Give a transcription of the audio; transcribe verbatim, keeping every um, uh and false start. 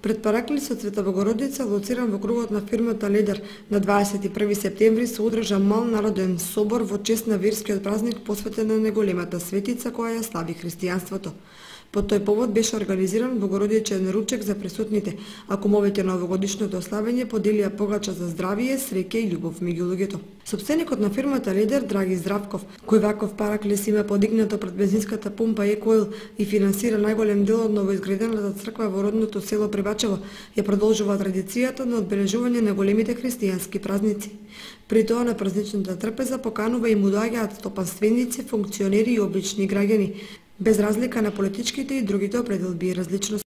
Пред параклисот Света Богородица, лоциран во кругот на фирмата Ледер, на дваесет и први септември се одржа мал народен собор во чест на верскиот празник посветен на неголемата светица која ја слави христијанството. По тој повод беше организиран богородичен ручек за присутните, а кумовите на овогодишното славење поделија погача за здравие, среќа и љубов меѓу луѓето. Сопственикот на фирмата Ледер, Драги Здравков, кој ваков параклис има подигнато пред бензинската пумпа Екоил и финансира најголем дел од новоизградената црква во родното село Прибачево, ја продолжува традицијата на одбележување на големите христијански празници. При тоа на празничната трпеза поканува и му доаѓаат стопанственици, функционери и обични граѓани, без разлика на политичките и другите определби и различности.